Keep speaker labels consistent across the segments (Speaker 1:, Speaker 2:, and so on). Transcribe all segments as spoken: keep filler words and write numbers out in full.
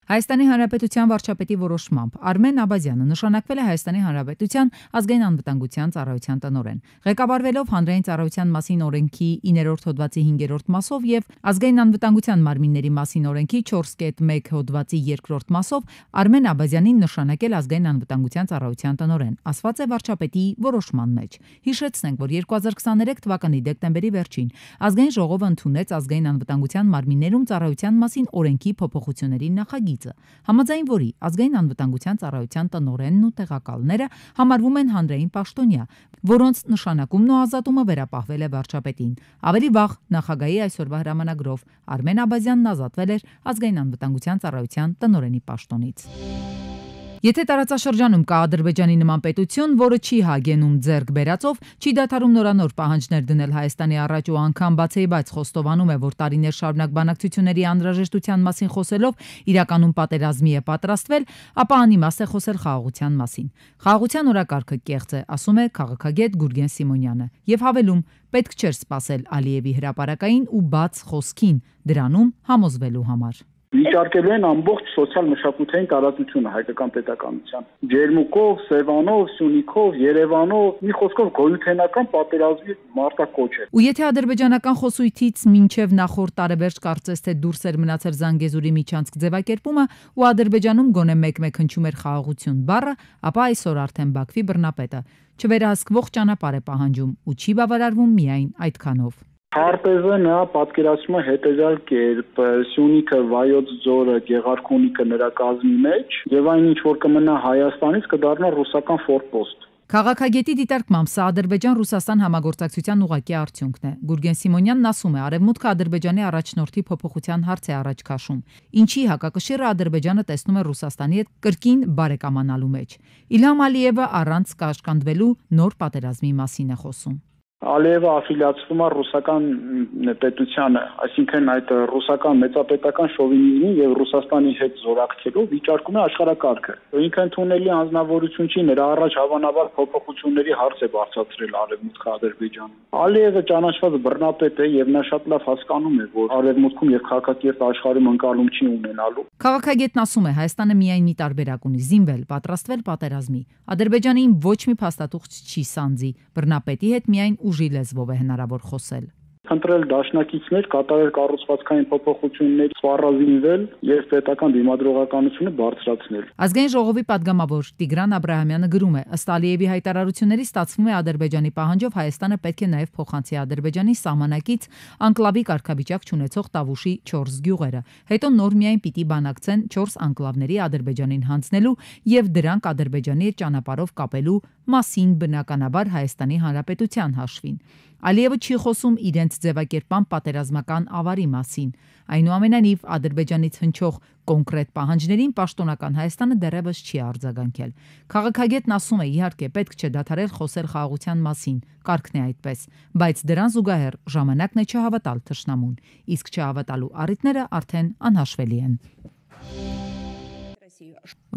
Speaker 1: Հայաստանի Հանրապետության վարչապետի որոշմամբ Արմեն Աբազյանը նշանակվել է Հայաստանի Հանրապետության ազգային անվտանգության ծառայության տնօրեն։ Ղեկավարվելով հանրային ծառայության մասին օրենքի իններորդ հոդվածի հինգերորդ մասով եւ ազգային անվտանգության մարմինների մասին օրենքի չորս կետ մեկ հոդվածի երկրորդ մասով Արմեն Աբազյանին նշանակել ազգային անվտանգության ծառայության տնօրեն, ասված է վարչապետի որոշման մեջ։ Հիշեցնենք, որ երկու հազար քսաներեք թվականի դեկտեմբերի վերջին ազգային ժողովը ընդունեց ազգային անվտանգության մարմիններում ծառայության մասին օրենքի փոփոխությունների նախագիծը, համաձայն որի ազգային անվտանգության ծառայության տնօրենն ու տեղակալները համարվում են հանրային պաշտոնյա, որոնց նշանակումն ու ազատումը վերապահվել է վարչապետին։ Ավելի վաղ նախագահի այսօրվա հրամանագրով Արմեն Աբազյանն ազատվել էր ազգային անվտանգության ծառայության տնօրենի պաշտոնից։ Եթե տարածաշրջանում կա Ադրբեջանի նման պետություն, որը չի հագենում ձեռք բերածով, չի դադարում նորանոր պահանջներ դնել Հայաստանի առաջ ու անգամ բացեիբաց խոստովանում է, որ տարիներ շարունակ բանակցությունների անհրաժեշտության մասին խոսելով իրականում պատերազմի է պատրաստվել, ապա անիմաստ է խոսել խաղաղության մասին։ Խաղաղության օրակարգը կեղծ է, ասում է քաղաքագետ Գուրգեն Սիմոնյանը, եւ հավելում, պետք չէր սպասել Ալիևի հրապարակային ու բաց խոսքին դրանում համոզվելու համար։
Speaker 2: Վիճարկելու են ամբողջ սոցիալ-մշակութային տարածությունը հայկական պետականության։ Ջերմուկով, Սևանով, Սյունիքով, Երևանով, մի խոսքով գոյութենական պատերազմի մարտակոչ է։
Speaker 1: Ու եթե ադրբեջանական խոսույթից մինչև նախորդ տարեվերջ կարծես թե դուրս էր մնացել Զանգեզուրի միջանցք ձևակերպումը ու Ադրբեջանում գոնե մեկ-մեկ հնչում էր խաղաղություն բառը, ապա այսօր արդեն Բաքվի բռնապետը չվերահսկվող ճանապարհ է պահանջում ու չի բավարարվում միայն այդքանով։
Speaker 2: Հարպեզը նա պատկերացնում է հետեւյալ կերպ. Սյունիքը, Վայոց ձորը, Գեղարքունիքը նրա կազմի մեջ եւ այն ինչ որ կմնա Հայաստանից կդառնա ռուսական ֆորպոստ։
Speaker 1: Քաղաքագետի դիտարկմամբ սա Ադրբեջան-Ռուսաստան համագործակցության ուղղակի արդյունքն է։ Գուրգեն Սիմոնյանն ասում է, Արևմուտքը Ադրբեջանի առաջնորդի փոփոխության հարց է առաջ քաշում, ինչի հակակշիռը Ադրբեջանը տեսնում է Ռուսաստանի հետ կրկին բարեկամանալու մեջ։ Իլհամ Ալիևը առանց կաշկանդվելու նոր պատերազմի մասին է խոսում։
Speaker 2: Ալիևը աֆիլիացվում է ռուսական պետությանը, այսինքն այդ ռուսական մեծապետական շովինիզմի եւ Ռուսաստանի հետ զորակցելու վիճարկում է աշխարհակարգը։ Ինքը ընդունելի անձնավորություն չի, նրա առաջ հավանաբար փոփոխությունների հարց է բարձրացրել Արևմուտքը Ադրբեջանում։ Ալիևը ճանաչված բռնապետ է եւ նա շատ լավ հասկանում է, որ Արևմուտքում եւ քաղաքակիրթ աշխարհում ընկալում չի ունենալու։
Speaker 1: Քաղաքագետն ասում է, Հայաստանը միայն մի տարբերակ ունի՝ զինվել, պատրաստվել պատերազմի։ Ադրբեջանին ոչ մի փաստաթուղթ չի սանձի, բռնապետի հետ միայն ուժի լեզվով է հնարավոր խոսել։
Speaker 2: Խնդրել դաշնակիցներ կատարել կառուցվածքային փոփոխություններ, սպառազինվել եւ պետական դիմադրողականությունը բարձրացնել։
Speaker 1: Ազգային ժողովի падգամավոր Տիգրան Աբրահամյանը գրում է. ըստ Ալիևի հայտարարությունների ստացվում է Ադրբեջանի պահանջով Հայաստանը պետք է նաեւ փոխանցի Ադրբեջանի սահմանակից անկլավի կարգավիճակ չունեցող Տավուշի չորս գյուղերը։ Հետո նոր միայն պիտի բանակցեն չորս անկլավների Ադրբեջանին հանձնելու եւ դրանք Ադրբեջանի հետ ճանապարհով կապելու մասին, բնականաբար Հայաստանի Հանրապետության հաշվին։ Ալիևը չի խոսում իրենց ձևակերպման պատերազմական ավարի մասին։ Այնուամենայնիվ Ադրբեջանից հնչող կոնկրետ պահանջներին պաշտոնական Հայաստանը դեռևս չի արձագանքել։ Քաղաքագետն ասում է, իհարկե պետք չէ դադարել խոսել խաղաղության մասին, կարգն է այդպես, բայց դրան զուգահեռ ժամանակն է չհավատալ թշնամուն, իսկ չհավատալու առիթները արդեն անհաշվելի են։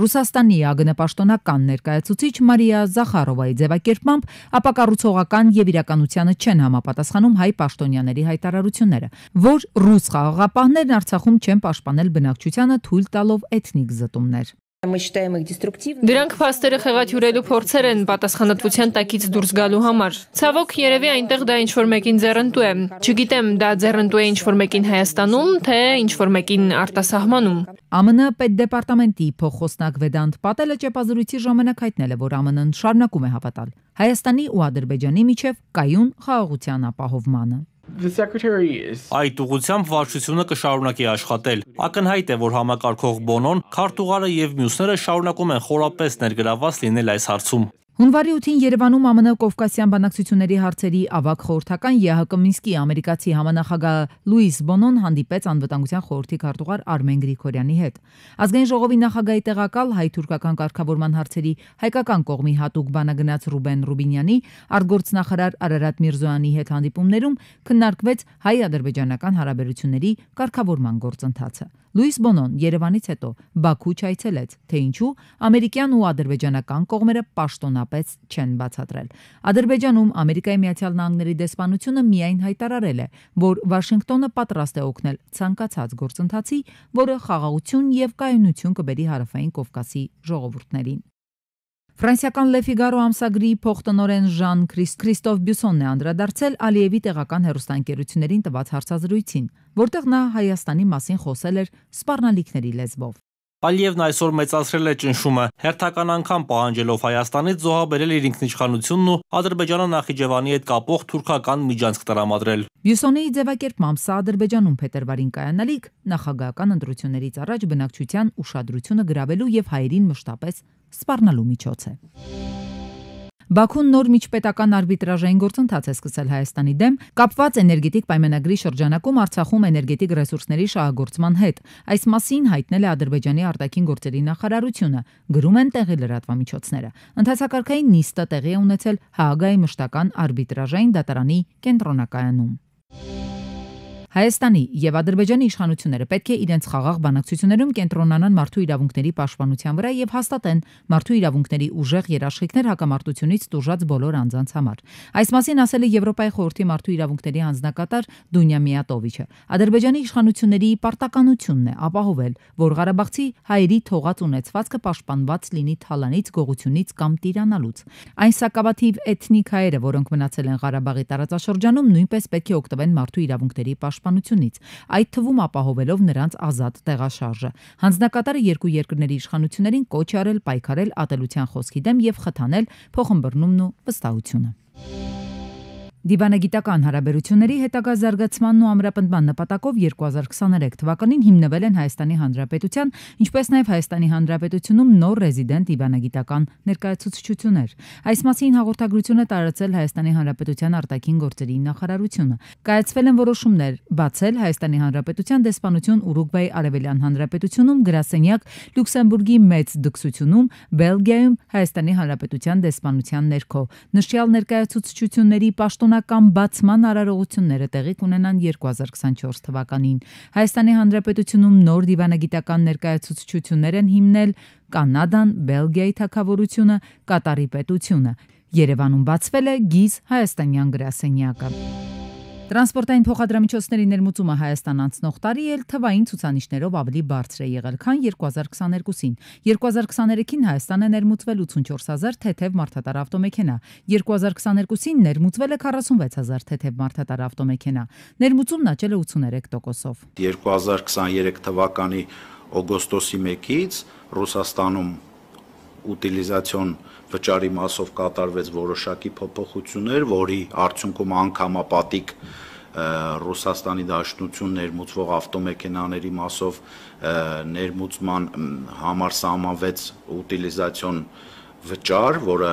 Speaker 1: Ռուսաստանի ԱԳՆ պաշտոնական ներկայացուցիչ Մարիա Զախարովայի ձևակերպմամբ ապակառուցողական եւ իրականությանը չեն համապատասխանում հայ պաշտոնյաների հայտարարությունները, որ ռուս խաղաղապահներն Արցախում չեն պաշտպանել բնակչությանը, թույլ տալով էթնիկ զտումներ։
Speaker 3: Դրանք փաստերը խեղաթյուրելու փորձեր են պատասխանատվության տակից դուրս գալու համար։ Ցավոք, երևի այնտեղ դա ինչ-որ մեկին ձեռնտու է։ Չգիտեմ, դա ձեռնտու է ինչ-որ մեկին Հայաստանում, թե ինչ-որ մեկին արտասահմանում։
Speaker 1: ԱՄՆ պետդեպարտամենտի փոխխոսնակ Վեդանտ Պատելը ճեպազրույցի ժամանակ հայտնել է, որ ԱՄՆ-ն շարունակում է հավատալ Հայաստանի ու Ադրբեջանի միջև կայուն խաղաղության ապահովմանը։
Speaker 4: Այդ ուղղությամբ վարչությունը կշարունակի աշխատել։ Ակնհայտ է, որ համակարգող Բոնոն, քարտուղարը եւ մյուսները շարունակում են խորապես ներգրավված լինել այս հարցում։
Speaker 1: Հունվարի ութին Երևանում ԱՄՆ Կովկասյան բանակցությունների հարցերի ավագ խորհրդական ԵՀԿ Մինսկի ամերիկացի համանախագահ Լուիս Բոնոն հանդիպեց անվտանգության խորհրդի քարտուղար Արմեն Գրիգորյանի հետ։ Ազգային ժողովի նախագահի տեղակալ հայ-թուրքական կարգավորման հարցերի հայկական կողմի հատուկ բանագնաց Ռուբեն Ռուբինյանի, արտգործնախարար Արարատ Միրզոյանի հետ հանդիպումներում քննարկվեց հայ-ադրբեջանական հարաբերությունների կարգավորման գործընթացը։ Լուիս Բոնոն Երևանից հետո Բաքու չայցելեց, թե ինչու ամերիկյան ու ադրբեջանական կողմերը պաշտոնապես չեն բացատրել։ Ադրբեջանում Ամերիկայի Միացյալ Նահանգների դեսպանությունը միայն հայտարարել է, որ Վաշինգտոնը պատրաստ է օգնել ցանկացած գործընթացի, որը խաղաղություն եւ կայունություն կբերի Հարավային Կովկասի ժողովուրդներին։ Ֆրանսիական Le Figaro ամսագրի փոխտնօրեն Ժան Քրիստոֆ Բյուսոնն է անդրադարձել Ալիևի տեղական հեռուստաընկերություններին տված հարցազրույցին, որտեղ նա Հայաստանի մասին խոսել էր սպառնալիքների լեզվով։
Speaker 4: Ալիևն այսօր մեծացրել է ճնշումը, հերթական անգամ պահանջելով Հայաստանից զոհաբերել իր ինքնիշխանությունն ու Ադրբեջանը Նախիջևանի հետ կապող թուրքական միջանցք տրամադրել։
Speaker 1: Բյուսոնի ձևակերպմամբ սա Ադրբեջանում փետրվարին կայանալիք նախագահական ընտրություններից առաջ բնակչության ուշադրությունը գրավելու եւ հայերին մշտապես սպառնալու միջոց է։ Բաքուն նոր միջպետական արբիտրաժային գործընթաց է սկսել Հայաստանի դեմ, կապված էներգետիկ պայմանագրի շրջանակում Արցախում էներգետիկ ռեսուրսների շահագործման հետ։ Այս մասին հայտնել է Ադրբեջանի արտաքին գործերի նախարարությունը, գրում են տեղի լրատվամիջոցները։ Ընթացակարգային նիստը տեղի է ունեցել Հաագայի մշտական արբիտրաժային դատարանի կենտրոնակայանում։ Հայաստանի եւ Ադրբեջանի իշխանությունները պետք է իրենց խաղաղ բանակցություններում կենտրոնանան մարդու իրավունքների պաշտպանության վրա եւ հաստատեն մարդու իրավունքների ուժեղ երաշխիքներ հակամարտությունից տուժած բոլոր անձանց համար։ Այս մասին ասել է Եվրոպայի խորհրդի մարդու իրավունքների հանձնակատար Դունյա Միատովիչը։ Ադրբեջանի իշխանությունների պարտականությունն է ապահովել, որ Ղարաբաղցի հայերի թողած ունեցվածքը պաշտպանված լինի թալանից, գողությունից կամ տիրանալուց։ Այն սակավաթիվ էթնիկ հայերը, որոնք մնացել են Ղարաբաղի տարածաշրջանում, նույնպես պետք է օգտվեն մարդու իրավունքների պաշտպանությունից, այդ թվում ապահովելով նրանց ազատ տեղաշարժը։ Հանձնակատարը երկու երկրների իշխանություններին կոչ է արել պայքարել ատելության խոսքի դեմ եւ խթանել փոխըմբռնումն ու վստահությունը։ Դիվանագիտական հարաբերությունների հետագա զարգացմանն ու ամրապնդման նպատակով երկու հազար քսաներեք թվականին հիմնվել են Հայաստանի Հանրապետության, ինչպես նաև Հայաստանի Հանրապետությունում նոր ռեզիդենտ դիվանագիտական ներկայացուցչություններ։ Այս մասին հաղորդագրություն է տարածել Հայաստանի Հանրապետության արտաքին գործերի նախարարությունը։ Կայացվել են որոշումներ բացել Հայաստանի Հանրապետության դեսպանություն Ուրուգվայի Արևելյան Հանրապետությունում, գրասենյակ Լյուքսեմբուրգի մեծ դքսությունում, Բելգիայում Հայաստանի Հանրապետության դեսպանության ներքո։ Նշյալ ներկայացուցչությունների պաշտոն Կան բացման արարողությունները տեղի կունենան երկու հազար քսանչորս թվականին։ Հայաստանի Հանրապետությունում նոր դիվանագիտական ներկայացուցչություններ են հիմնել Կանադան, Բելգիայի թագավորությունը, Կատարի պետությունը։ Երևանում բացվել է գիզ հայաստանյան գրասենյակը։ Տրանսպորտային փոխադրամիջոցների ներմուծումը Հայաստան անցնող տարի էլ թվային ցուցանիշներով ավելի բարձր է եղել, քան երկու հազար քսաներկուսին։ երկու հազար քսաներեքին Հայաստան է ներմուծվել ութսունչորս հազար թեթև մարդատար ավտոմեքենա, երկու հազար քսաներկուսին ներմուծվել է քառասունվեց հազար թեթև մարդատար ավտոմեքենա։ Ներմուծումն աճել է ութսուներեք տոկոսով։
Speaker 5: երկու հազար քսաներեք թվականի օգոստոսի մեկից Ռուսաստանում ուտիլիզացիոն վճարի մասով կատարվեց որոշակի փոփոխություններ, որի արդյունքում անգամապատիկ Ռուսաստանի Դաշնություն ներմուծվող ավտոմեքենաների մասով ներմուծման համար սահմանվեց ուտիլիզացիոն վճար, որը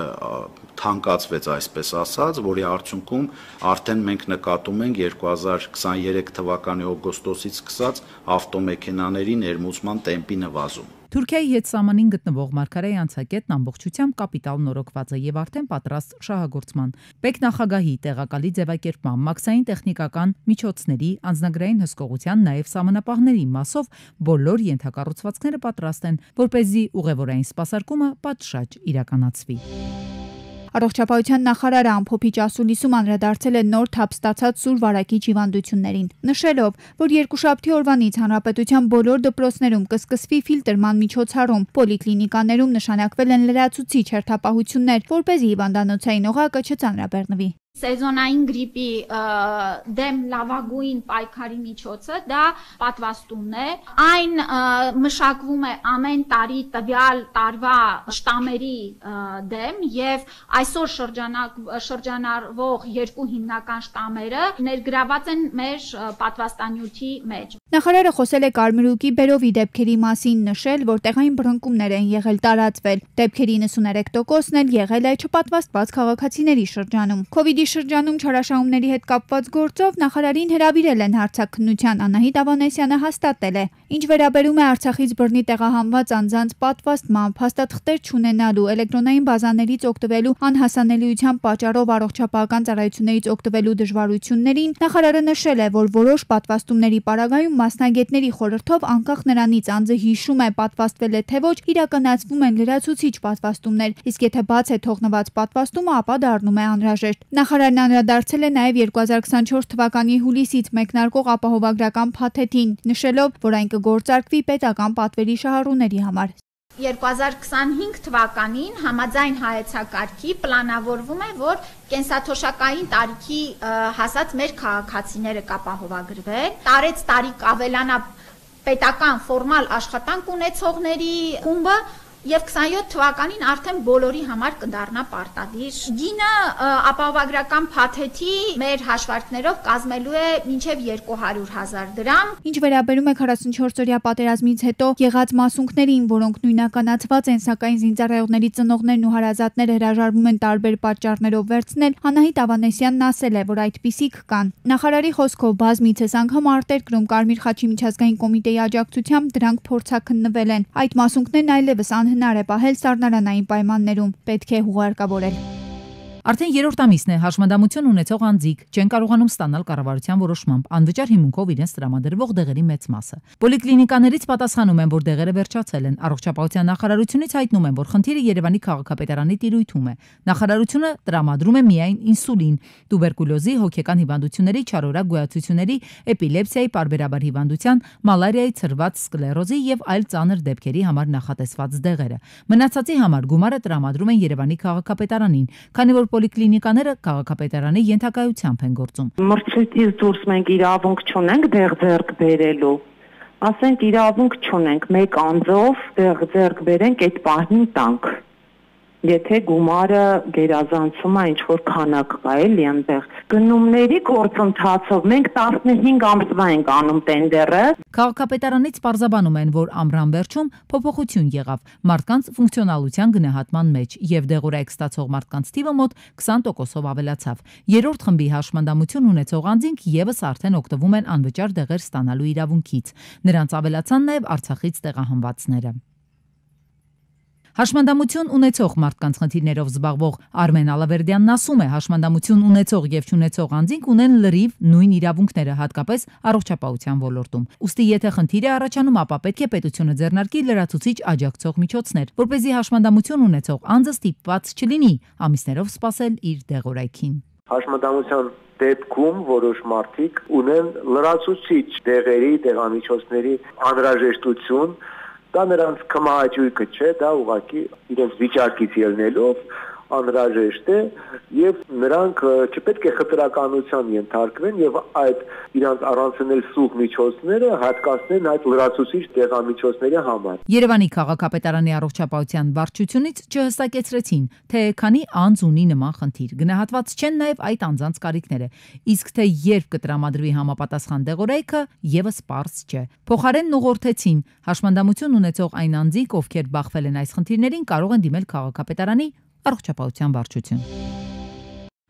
Speaker 5: թանկացվեց, այսպես ասած, որի արդյունքում արդեն մենք նկատում ենք երկու հազար քսաներեք թվականի օգոստոսից սկսած ավտոմեքենաների ներմուծման տեմպի նվազում։
Speaker 1: Թուրքիայի հետ սահմանին գտնվող Մարգարեի անցակետն ամբողջությամբ կապիտալ նորոգված է եւ արդեն պատրաստ շահագործման։ Պետ նախագահի տեղակալի ձևակերպման, մաքսային տեխնիկական միջոցների, անձնագրային հսկողության, նաեւ սահմանապահների մասով բոլոր ենթակառուցվածքները պատրաստ են, որպեսզի ուղևորային սպասարկումը պատշաճ իրականացվի։
Speaker 6: Առողջապահության նախարարը ամփոփիչ ասուլիսում անդրադարձել է նոր թափ ստացած սուր վարակիչ հիվանդություններին, նշելով, որ երկուշաբթի օրվանից հանրապետության բոլոր դպրոցներում կսկսվի ֆիլտրման միջոցառում, պոլիկլինիկաներում նշանակվել են լրացուցիչ հերթապահություններ, որպեսզի հիվանդանոցային օղակը չծանրաբեռնվի։
Speaker 7: Սեզոնային գրիպի դեմ լավագույն պայքարի միջոցը դա պատվաստումն է։ Այն մշակվում է ամեն տարի տվյալ տարվա շտամերի դեմ եւ այսօր շրջանառվող երկու հիմնական շտամերը ներգրաված են մեր պատվաստանյութի մեջ։
Speaker 6: Նախարարը խոսել է կարմրուկի բերովի դեպքերի մասին, նշել, որ տեղային բռնկումներ են եղել տարածվել։ Դեպքերի իննսուներեք տոկոսն էլ եղել է չպատվաստված քաղաքացիների շրջանում։ Քովիդի Արցախի շրջանում չարաշահումների հետ կապված գործով նախարարին հրավիրել են հարցաքննության, Անահիտ Ավանեսյանը հաստատել է։ Ինչ վերաբերում է Արցախից բռնի տեղահանված անձանց պատվաստմամբ, հաստատղտեր չունենալու, էլեկտրոնային բազաներից օգտվելու անհասանելիության պատճառով առողջապահական ծառայություններից օգտվելու դժվարություններին, նախարարը նշել է, որ որոշ պատվաստումների պարագայում մասնագետների խորհրդով անկախ նրանից անձը հիշում է պատվաստվել է թե ոչ, իրականացվում են լրացուցիչ պատվաստումներ, իսկ եթե բաց է թողնված պատվաստումը, ապա դառնում է անհրաժեշտ։ Նախարարն անդրադարձել է նաև երկու հազար քսանչորս թվականի հուլիսից մեկնարկող ապահովագրական փաթեթին, նշելով, որ այն կգործարկվի պետական պատվերի շահառուների համար։
Speaker 7: երկու հազար քսանհինգ թվականին համաձայն հայեցակարգի պլանավորվում է, որ կենսաթոշակային տարիքի հասած մեր քաղաքացիները կապահովագրվեն, տարեց տարի կավելանա պետական ֆորմալ աշխատանք ունեցողների խումբը եւ քսանյոթ թվականին արդեն բոլորի համար կդառնա պարտադիր։ Գինը ապահովագրական փաթեթի մեր հաշվարկներով կազմելու է մինչեւ երկու հարյուր հազար դրամ։
Speaker 6: Ինչ վերաբերում է քառասունչորսօրյա պատերազմից հետո եղած մասունքներին, որոնք նույնականացված են, սակայն զինծառայողների ծնողներն ու հարազատները հրաժարվում են տարբեր պատճառներով վերցնել, Անահիտ Ավանեսյանն ասել է, որ այդպիսիք կան։ Նախարարի խոսքով բազմիցս անգամ արտերկրում Կարմիր խաչի միջազգային կոմիտեի աջակցությամբ դրանք փորձաքննվել են։ Այդ մասունքներն այլևս հնար է պահել սառնարանային պայմաններում, պետք է հուղարկավորել։
Speaker 1: Արդեն երրորդ ամիսն է հաշմանդամություն ունեցող անձիկ չեն կարողանում ստանալ կառավարության որոշմամբ անվճար հիմունքով իրենց տրամադրվող դեղերի մեծ մասը։ Պոլիկլինիկաներից պատասխանում են, որ դեղերը վերջացել են։ Առողջապահության նախարարությունից հայտնում են, որ խնդիրը Երևանի քաղաքապետարանի տիրույթում է։ Նախարարությունը տրամադրում է միայն ինսուլին, տուբերկուլոզի, հոգեկան հիվանդությունների, չարորակ գոյացությունների, էպիլեպսիայի, պարբերաբար հիվանդության, մալարիայի, ցրված սկլերոզի եւ այլ ծանր դեպքերի համար նախատեսված դեղերը։ Մնացածի համար գումարը տրամադրում են Երևանի քաղաքապետարանին, քանի որ պոլիկլինիկաները քաղաքապետարանի ենթակայությամբ են գործում։
Speaker 8: Մրցույթից դուրս մենք իրավունք չունենք դեղ ձեռք բերելու։ Ասենք իրավունք չունենք մեկ անձով դեղ ձեռք բերենք այդ պահին տանք։ Եթե գումարը գերազանցում է ինչ-որ քանակ կա էլի այնտեղ։ Գնումների գործընթացով մենք տասնհինգ ամսվա ենք անում տենդերը։
Speaker 1: Քաղաքապետարանից պարզաբանում են, որ ամռան վերջում փոփոխություն եղավ մարդկանց ֆունկցիոնալության գնահատման մեջ եւ դեղորայք ստացող մարդկանց թիվը մոտ քսան տոկոսով ավելացավ։ Երրորդ խմբի հաշմանդամություն ունեցող անձինք եւս արդեն օգտվում են անվճար դեղեր ստանալու իրավունքից։ Նրանց ավելացան նաեւ Արցախից տեղահանվածները։ Հաշմանդամություն ունեցող մարդկանց խնդիրներով զբաղվող Արմեն Ալավերդյանն ասում է, հաշմանդամություն ունեցող եւ չունեցող անձինք ունեն լրիվ նույն իրավունքները, հատկապես առողջապահության ոլորտում։ Ուստի եթե խնդիր է առաջանում, ապա պետք է պետությունը ձեռնարկի լրացուցիչ աջակցող միջոցներ, որպեսզի հաշմանդամություն ունեցող անձը ստիպված չլինի ամիսներով սպասել իր դեղորայքին։
Speaker 9: Հաշմանդամության դեպքում որոշ մարդիկ ունեն լրացուցիչ դեղերի, դեղամիջոցների անհրաժեշտություն։ Դա նրանց կմահաճույքը չէ, դա ուղղակի իրենց վիճակից ելնելով անհրաժեշտ է եւ նրանք չպետք է խտրականության ենթարկվեն եւ այդ իրանց առանցնել սուղ միջոցները հատկացնեն այդ լրացուցիչ դեղամիջոցների համար։
Speaker 1: Երևանի քաղաքապետարանի առողջապահության վարչությունից չհստակեցրեցին, թե քանի անձ ունի նման խնդիր։ Գնահատված չեն նաեւ այդ անձանց կարիքները, իսկ թե երբ կտրամադրվի համապատասխան դեղորայքը եւս պարզ չէ։ Փոխարենն ուղղորդեցին հաշմանդամություն ունեցող այն անձինք, ովքեր բախվել են այս խնդիրներին, կարող են դիմել քաղաքապետարանի առողջապահության վարչություն։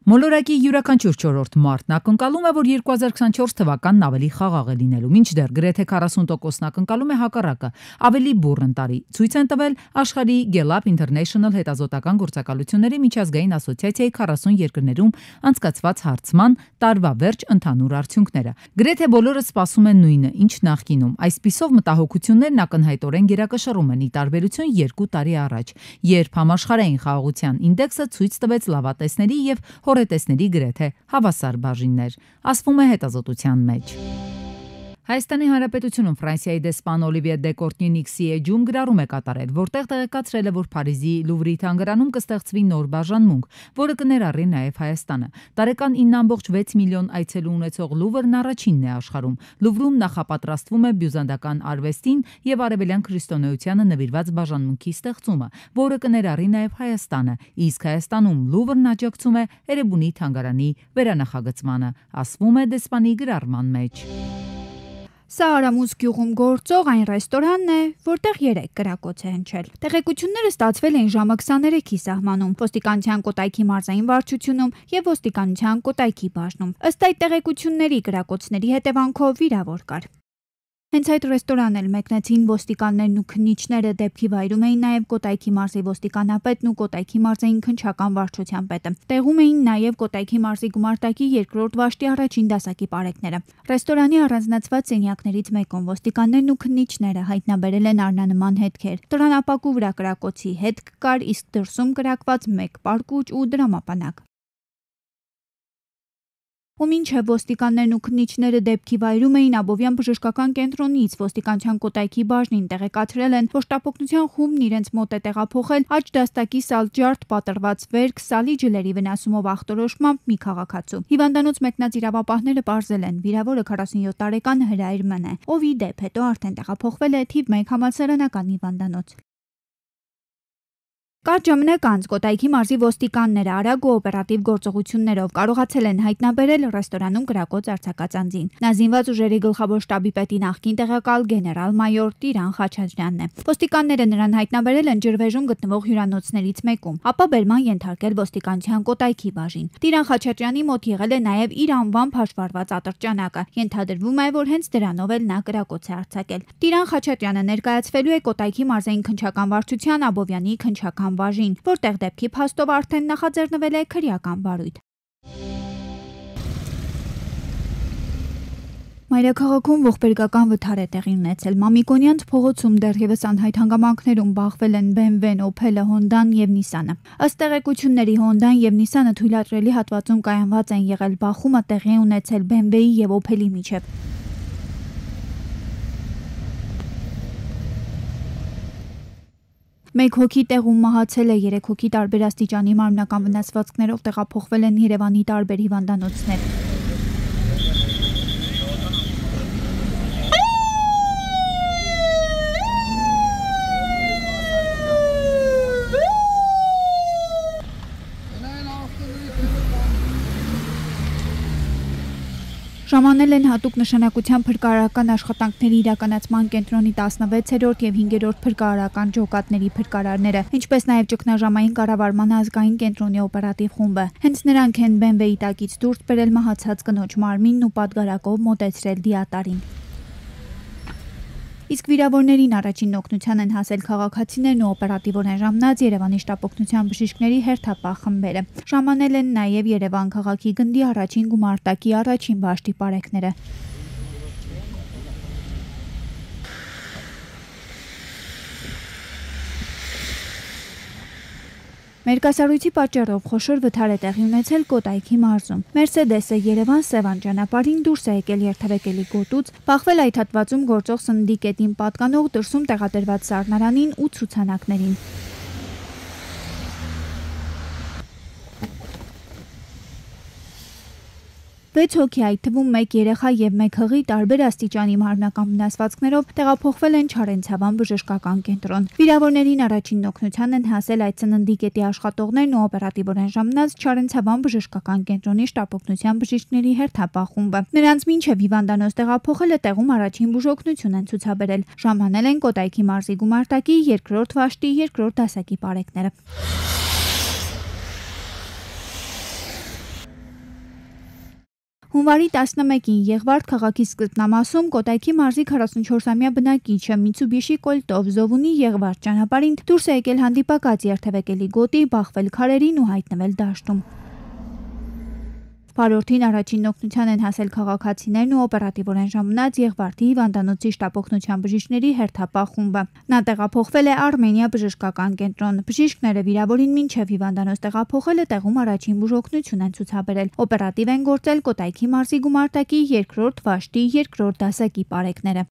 Speaker 1: Մոլորակի յուրաքանչյուր չորրորդ մարդն ակնկալում է, որ երկու հազար քսանչորս թվականն ավելի խաղաղ է լինելու, մինչդեռ գրեթե քառասուն տոկոսն ակնկալում է հակառակը, ավելի բուռն տարի։ Ցույց են տվել աշխարհի Gallup International հետազոտական գործակալությունների միջազգային ասոցիացիայի քառասուն երկրներում անցկացված հարցման տարվա վերջ ընդհանուր արդյունքները։ Գրեթե բոլորը սպասում են նույնը, ինչ նախկինում։ Այսպիսով մտահոգություններն ակնհայտորեն գերակշռում են՝ ի տարբերություն երկու տարի առաջ, երբ համաշխարհային խաղաղության ինդեքսը ցույց տվեց լավատեսների եւ հորետեսների գրեթե հավասար բաժիններ, ասվում է հետազոտության մեջ։ Հայաստանի Հանրապետությունում Ֆրանսիայի դեսպան Օլիվիե դե Կորտնի-Նիքսի էջում գրառում է կատարել, որտեղ տեղեկացրել է, որ Փարիզի Լուվրի թանգարանում կստեղծվի նոր բաժանմունք, որը կներառի նաև Հայաստանը։ Տարեկան ինը ամբողջ վեց միլիոն այցելու ունեցող Լուվրն առաջինն է աշխարհում։ Լուվրում նախապատրաստվում է բյուզանդական արվեստին եւ արևելյան քրիստոնեությանը նվիրված բաժանմունքի ստեղծումը, որը կներառի նաև Հայաստանը, իսկ Հայաստանում Լուվրն աջակցում է Էրեբունի թանգարանի վերանախագծմանը, ասվում է դեսպանի գրառման մեջ։
Speaker 6: Սա Արամուս գյուղում գործող այն ռեստորանն է, որտեղ երեք կրակոց է հնչել։ Տեղեկությունները ստացվել են ժամը քսաներեքի սահմանում, ոստիկանության Կոտայքի մարզային վարչությունում եւ ոստիկանության Կոտայքի բաժնում։ Ըստ այդ տեղեկությունների կրակոցների հետևանքով վիրավոր կար։ Հենց այդ ռեստորան էլ մեկնեցին ոստիկաններն ու քննիչները, դեպքի վայրում էին նաև Կոտայքի մարզի ոստիկանապետն ու Կոտայքի մարզային քննչական վարչության պետը։ Տեղում էին նաև Կոտայքի մարզի գումարտակի երկրորդ վաշտի առաջին դասակի պարեկները։ Ռեստորանի առանձնացված սենյակներից մեկում ոստիկաններն ու քննիչները հայտնաբերել են առնանման հետքեր։ Տրանապակու վրա կրակոցի հետք կար, իսկ դրսում կրակված մեկ պարկուճ ու դրամապանակ։ Ու մինչև ոստիկաններն ու քննիչները դեպքի վայրում էին, Աբովյան բժշկական կենտրոնից ոստիկանության Կոտայքի բաժնին տեղեկացրել են, որ շտապօգնության խումբն իրենց մոտ է տեղափոխել աջ դաստակի սալջարդ պատրված վերք սալի ջլերի վնասումով ախտորոշմամբ մի քաղաքացու։ Հիվանդանոց մեկնած իրավապահները պարզել են, վիրավորը քառասունյոթ տարեկան Հրայր Մ է, ով ի դեպ հետո արդեն տեղափոխվել է թիվ մեկ համալսարանական հիվանդանոց։ Կարճ ժամանակ անց Կոտայքի մարզի ոստիկանները արագ ու օպերատիվ գործողություններով կարողացել են հայտնաբերել ռեստորանում կրակոց արձակած անձին։ Նա զինված ուժերի գլխավոր շտաբի պետի նախկին տեղակալ գեներալ-մայոր Տիրան Խաչատրյանն է։ Ոստիկանները նրան հայտնաբերել են ջրվեժում գտնվող հյուրանոցներից մեկում, ապա բերման ենթարկել ոստիկանության Կոտայքի բաժին։ Տիրան Խաչատրյանի մոտ եղել է նաև իր անվամբ հաշվառված ատրճանակը։ Ենթադրվում է, որ հենց դրանով էլ նա կրակոց է արձակել։ Տիրան Խաչատրյանը ներկայացվելու է Կոտայքի մարզային քննչական վարչության Աբովյանի քննչական բաժին, որտեղ դեպքի փաստով արդեն նախաձեռնվել է քրեական վարույթ։ Մայրաքաղաքում ողբերգական վթար է տեղի ունեցել։ Մամիկոնյանց փողոցում դեռևս անհայտ հանգամանքներում բախվել են բի էմ վեն, Օփելը, Հոնդան եւ Նիսանը։ Ըստ տեղեկությունների Հոնդան եւ Նիսանը թույլատրելի հատվածում կայանված են եղել, բախումը տեղի ունեցել բի էմ վեի եւ Օփելի միջև։ Մեկ հոգի տեղում մահացել է, երեք հոգի տարբեր աստիճանի մարմնական վնասվածքներով տեղափոխվել են Երևանի տարբեր հիվանդանոցներ։ Ժամանել են հատուկ նշանակության փրկարարական աշխատանքների իրականացման կենտրոնի տասնվեցերորդ եւ հինգերորդ փրկարարական ջոկատների փրկարարները, ինչպես նաեւ ճգնաժամային կառավարման ազգային կենտրոնի օպերատիվ խումբը։ Հենց նրանք են բի էմ վեի տակից դուրս բերել մահացած կնոջ մարմինն ու պատգարակով մոտեցրել դիատարին։ Իսկ վիրավորներին առաջին օգնության են հասել քաղաքացիներն ու օպերատիվորեն ժամնած Երևանի շտապօգնության բժիշկների հերթապահ խմբերը։ Ժամանել են նաև Երևան քաղաքի գնդի առաջին գումարտակի առաջին վաշտի պարեկները։ Մերկասառույցի պատճառով խոշոր վթար է տեղի ունեցել Կոտայքի մարզում։ Մերսեդեսը Երևան-Սևան ճանապարհին դուրս է եկել երթևեկելի գոտուց, բախվել այդ հատվածում գործող սննդի կետին պատկանող դրսում տեղադրված սառնարանին ու ցուցանակներին։ վեց հոգի, այդ թվում մեկ երեխա եւ մեկ հղի տարբեր աստիճանի մարմնական վնասվածքներով տեղափոխվել են Չարենցավան բժշկական կենտրոն։ Վիրավորներին առաջին օգնության են հասել այդ սննդի կետի աշխատողներն ու օպերատիվորեն ժամնած Չարենցավան բժշկական կենտրոնի շտապօգնության բժիշկների հերթապահ խումբը։ Նրանց մինչև հիվանդանոց տեղափոխելը տեղում առաջին բուժօգնություն են ցուցաբերել։ Ժամանել են Կոտայքի մարզի գումարտակի երկրորդ վաշտի երկրորդ դասակի պարեկները։ Հունվարի տասնմեկին Եղվարդ քաղաքի սկզբնամասում Կոտայքի մարզի քառասունչորսամյա բնակիչը Միցուբիշի կոլտով Զովունի Եղվարդ ճանապարհին դուրս է եկել հանդիպակաց երթևեկելի գոտի, բախվել քարերին ու հայտնվել դաշտում։ Վարորդին առաջին օգնության են հասել քաղաքացիներն ու օպերատիվորեն ժամանած Եղվարդի հիվանդանոցի շտապօգնության բժիշկների հերթապահ խումբը։ Նա տեղափոխվել է Արմենիա բժշկական կենտրոն։ Բժիշկները վիրավորին մինչև հիվանդանոց տեղափոխելը տեղում առաջին բուժօգնություն են ցուցաբերել։ Օպերատիվ են գործել Կոտայքի մարզի գումարտակի երկրորդ վաշտի երկրորդ դասակի պարեկները։